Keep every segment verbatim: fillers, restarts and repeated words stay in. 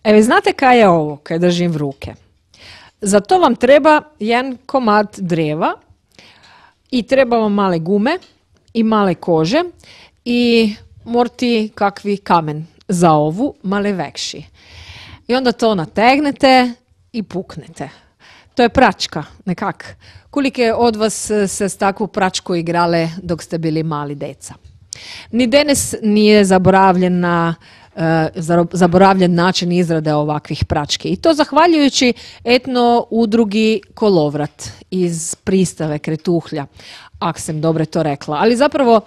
E, vi znate kaj je ovo, kaj držim v ruke? Za to vam treba jedan komad dreva i treba vam male gume i male kože i morati kakvi kamen za ovu, male vekši. I onda to nategnete i puknete. To je pračka, nekak. Kolike od vas se s takvu pračku igrale dok ste bili mali deca? Ni danas nije zaboravljen na zaboravljen način izrade ovakvih prački. I to zahvaljujući etno udrugi Kolovrat iz Pristave Kretuhlja, ak sam dobro to rekla. Ali zapravo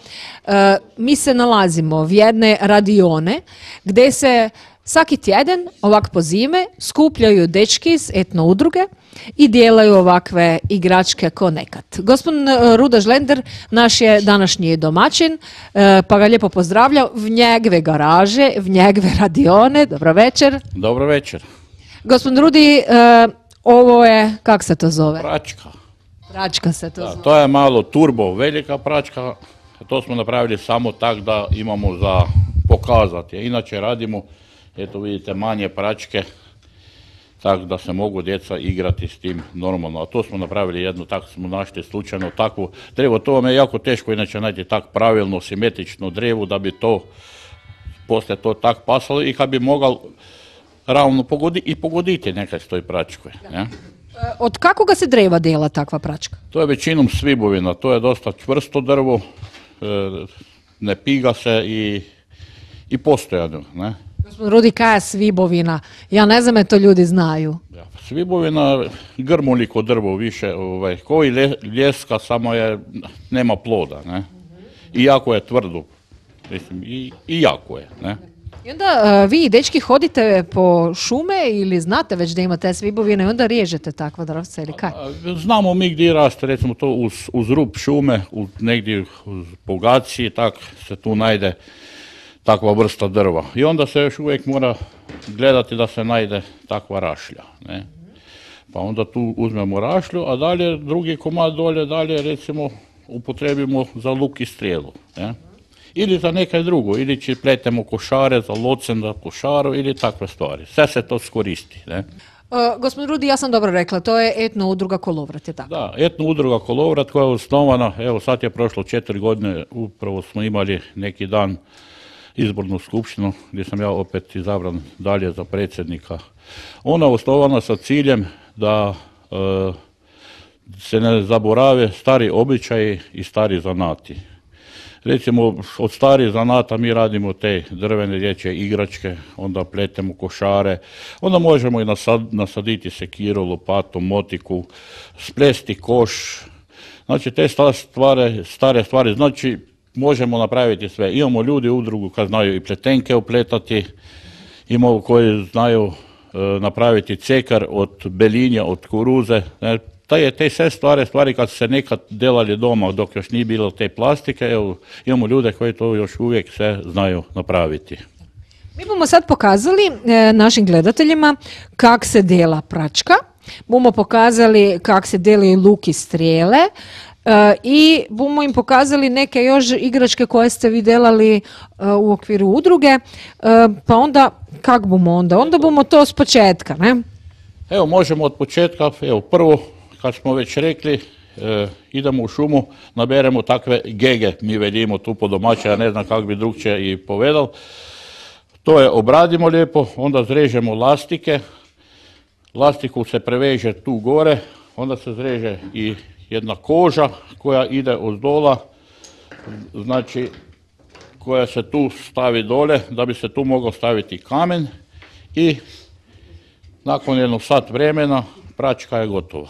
mi se nalazimo v jedne radione gdje se svaki tjedan, ovak po zime, skupljaju dečki iz etno udruge i dijelaju ovakve igračke ko nekad. Gospodin Ruda Žlender, naš je današnji domaćin, pa ga lijepo pozdravlja v njegove garaže, v njegove radione. Dobro večer. Dobro večer. Gospodin Rudi, ovo je, kak se to zove? Pračka. Pračka se to da, zove. To je malo turbo velika pračka, to smo napravili samo tak da imamo za pokazati. Inače radimo, eto vidite, manje pračke, tako da se mogu djeca igrati s tim normalno. A to smo napravili jednu, tako smo našli slučajno takvu drevo. To vam je jako teško inače naći tak pravilno, simetrično drevo da bi to, poslije to tak pasalo i kad bi mogao ravno pogoditi i pogoditi nekaj s toj pračkoj. Ne? Od kakoga se dreva dela takva pračka? To je većinom svibovina, to je dosta čvrsto drvo, ne piga se i, i postojano, ne? Gospodin Rudi, kaj je svibovina? Ja ne znam, to ljudi znaju. Ja, svibovina, grmuliko drvo više, ovaj, koji ljeska, samo je, nema ploda, ne? I jako je tvrdo, mislim, i, i jako je, ne? I onda uh, vi, dečki, hodite po šume ili znate već da ima te svibovine i onda riježete takva drvca ili kaj? Znamo mi gdje raste, recimo to uz, uz rub šume, uz, negdje uz Bogaciji, tak se tu najde takva vrsta drva. I onda se još uvijek mora gledati da se najde takva rašlja, ne? Pa onda tu uzmemo rašlju, a dalje drugi komad dolje, dalje recimo upotrebimo za luk i strijelu, ne? Ili za nekaj drugo, ili će pletemo košare za locen, za košaru ili takve stvari. Sve se to skoristi, ne? Uh, gospodin Rudi, ja sam dobro rekla, to je etno udruga Kolovrat, je tako? Da, etno udruga Kolovrat koja je osnovana, evo sad je prošlo četiri godine, upravo smo imali neki dan izbornu skupštinu gdje sam ja opet izabran dalje za predsjednika. Ona je osnovana sa ciljem da e, se ne zaborave stari običaji i stari zanati. Recimo, od starih zanata mi radimo te drvene dječje igračke, onda pletemo košare, onda možemo i nasad, nasaditi sekiru, lopatu, motiku, splesti koš. Znači, te stvari, stare stvari, znači, možemo napraviti sve. Imamo ljudi u udrugu kad znaju i pletenke upletati, imamo koji znaju e, napraviti cekar od belinja, od kuruze. Ne? Te, te sve stvari, stvari kad su se nekad delali doma dok još nije bilo te plastike, evo, imamo ljude koji to još uvijek sve znaju napraviti. Mi bomo sad pokazali e, našim gledateljima kak se dela pračka, bomo pokazali kak se delaju luk i strijele, Uh, i bomo im pokazali neke još igračke koje ste vi delali uh, u okviru udruge, uh, pa onda, kak bomo onda? Onda bomo to s početka, ne? Evo, možemo od početka, evo, prvo, kad smo već rekli, e, idemo u šumu, naberemo takve gege, mi veljimo tu po domaće, ja ne znam kako bi drugčije i povedal. To je obradimo lijepo, onda zrežemo lastike, lastiku se preveže tu gore, onda se zreže i jedna koža koja ide od dola, znači koja se tu stavi dole da bi se tu mogao staviti kamen i nakon jednog sat vremena pračka je gotova.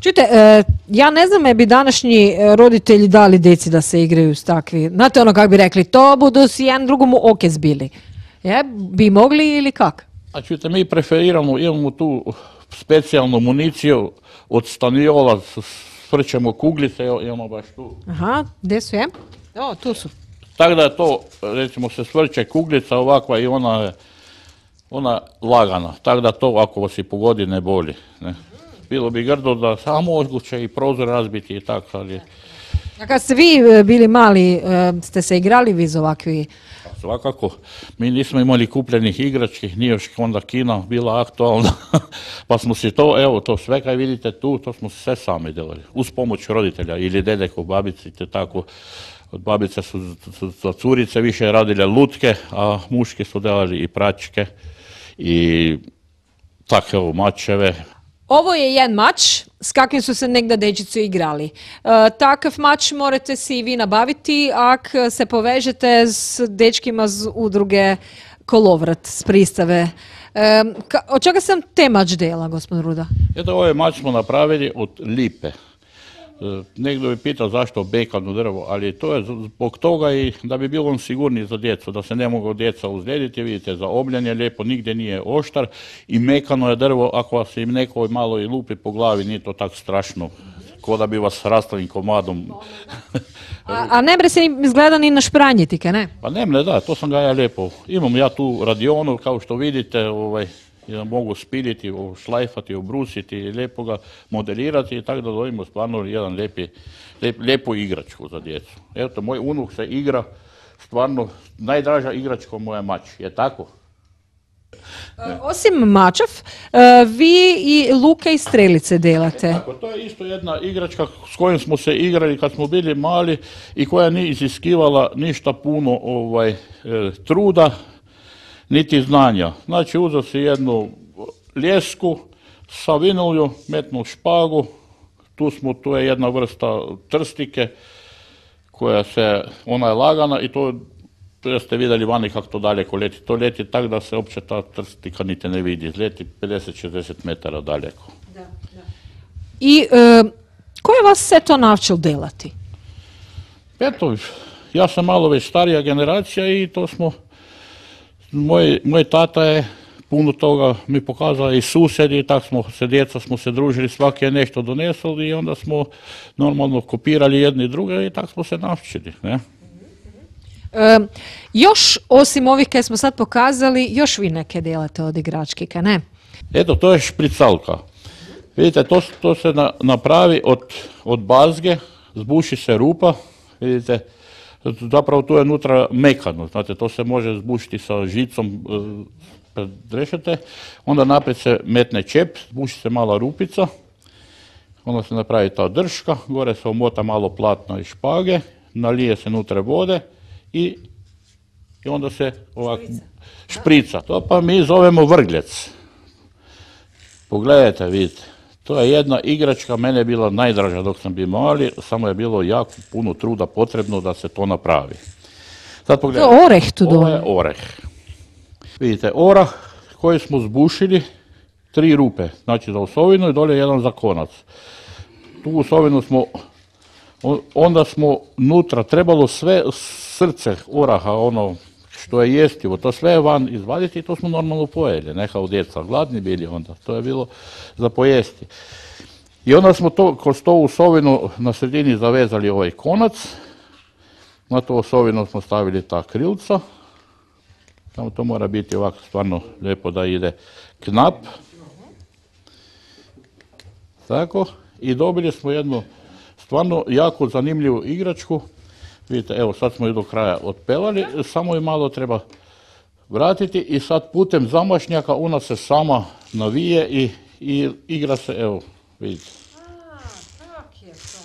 Čujte, e, ja ne znam je bi današnji roditelji dali djeci da se igraju s takvi, znate ono kako bi rekli, to budu si jedan drugomu oke zbili. Je, bi mogli ili kak? A čujte, mi preferiramo, imamo tu specijalnu municiju od staniola, svrćemo kuglice, imamo baš tu. Aha, gdje su je? O, tu su. Tako da je to, recimo se svrće kuglica ovakva i ona je ona lagana, tako da to ako vas i pogodi ne boli. Ne. Bilo bi grdo da samo moguće i prozor razbiti i tako, ali A kad ste vi e, bili mali, e, ste se igrali vi za ovakvi? Svakako, mi nismo imali kupljenih igrački, nije još onda kina bila aktualna, pa smo si to, evo, to sve kaj vidite tu, to smo sve sami delali, uz pomoć roditelja ili dedeko, babici, te tako. Od babice su za curice više radile lutke, a muški su delali i pračke i tako, evo, mačeve. Ovo je jedan mač s kakvim su se negdje dečici igrali. E, takav mač morate si i vi nabaviti ako se povežete s dečkima z udruge Kolovrat, s pristave. E, ka, od čega sam te mač dela, gospodin Ruda? Eto, ovaj mač smo napravili od lipe. Negdje bi pitao zašto bekano drvo, ali to je zbog toga i da bi bilo on sigurniji za djecu, da se ne mogu djeca uzlijediti. Vidite, zaobljen je lijepo, nigdje nije oštar i mekano je drvo, ako vas im neko malo i lupi po glavi, nije to tako strašno, ko da bi vas rastavim komadom. A, a ne bre se izgleda ni na špranjetike, ne? Pa ne mne, da, to sam ga ja lijepo. Imam ja tu radionu, kao što vidite, ovaj, ja mogu spiliti, šlajfati, obrusiti i lijepo ga modelirati i tako da dobimo stvarno jedan lijepi, lijep, lijepu igračku za djecu. Eto, moj unuk se igra, stvarno najdraža igračka moja mač, je tako? E, osim mačev, e, vi i luke i strelice delate. E, tako, to je isto jedna igračka s kojom smo se igrali kad smo bili mali i koja nije iziskivala ništa puno ovaj, e, truda, niti znanja. Znači, uzeo si jednu ljesku, savinulju, metnu špagu, tu smo, tu je jedna vrsta trstike, koja se, ona je lagana i to, to ste vidjeli vani kako to daleko leti. To leti tako da se uopće ta trstika niti ne vidi, leti pedeset do šezdeset metara daleko. Da, da. I e, ko je vas sve to naučil delati? Eto, ja sam malo već starija generacija i to smo, Moj, moj tata je puno toga mi pokazao i susjedi, tako smo se, djeca smo se družili, svaki je nešto donesli i onda smo normalno kopirali jedni druge i tako smo se naučili. Ne? E, još osim ovih koje smo sad pokazali, još vi neke delate od igrački, ka ne? Eto, to je špricalka. Vidite, to, to se na, napravi od, od bazge, zbuši se rupa, vidite, zapravo tu je unutra mekano, znate, to se može zbušiti sa žicom, predrešete, onda naprijed se metne čep, zbuši se mala rupica, onda se napravi ta drška, gore se omota malo platna i špage, nalije se unutra vode i, i onda se ovako šprica. To pa mi zovemo vrgljec. Pogledajte, vidite. To je jedna igračka, mene je bila najdraža dok sam bio mali, samo je bilo jako puno truda potrebno da se to napravi. Sad pogledajte. To je oreh tu dole. Ovo je oreh. Vidite, orah koji smo zbušili, tri rupe, znači za osovinu i dolje jedan za konac. Tu osovinu smo, onda smo nutra trebalo sve srce oraha, ono što je jestivo, to sve van izvaditi i to smo normalno pojeli, ne kao djeca, gladni bili onda, to je bilo za pojesti. I onda smo to, kroz to osovinu na sredini zavezali ovaj konac, na to osovinu smo stavili ta krilca, samo to mora biti ovako stvarno lijepo da ide knap, tako, i dobili smo jednu stvarno jako zanimljivu igračku. Vidite, evo sad smo ju do kraja otpelali, samo ju malo treba vratiti i sad putem zamašnjaka ona se sama navije i, i igra se, evo, vidite. A, tak je to.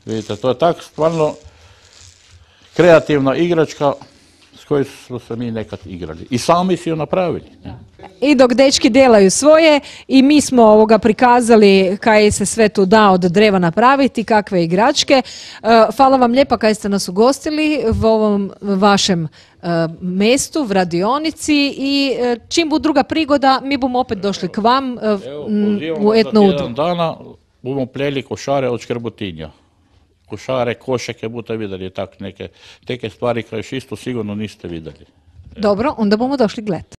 Vidite, to je tak stvarno kreativna igračka s kojoj smo se mi nekad igrali. I sami si ju napravili. Ne? I dok dečki delaju svoje i mi smo ovoga prikazali kaj se sve tu da od dreva napraviti, kakve igračke. Hvala vam lijepa kaj ste nas ugostili u ovom vašem mestu, v radionici i čim bu druga prigoda, mi bomo opet došli k vam Evo, u etno udrugu. Jedan dana bomo pleli košare od škrbotinja. Košare, košeke, budete vidjeli tak neke, neke stvari koje isto sigurno niste vidjeli. Dobro, onda bomo došli gledati.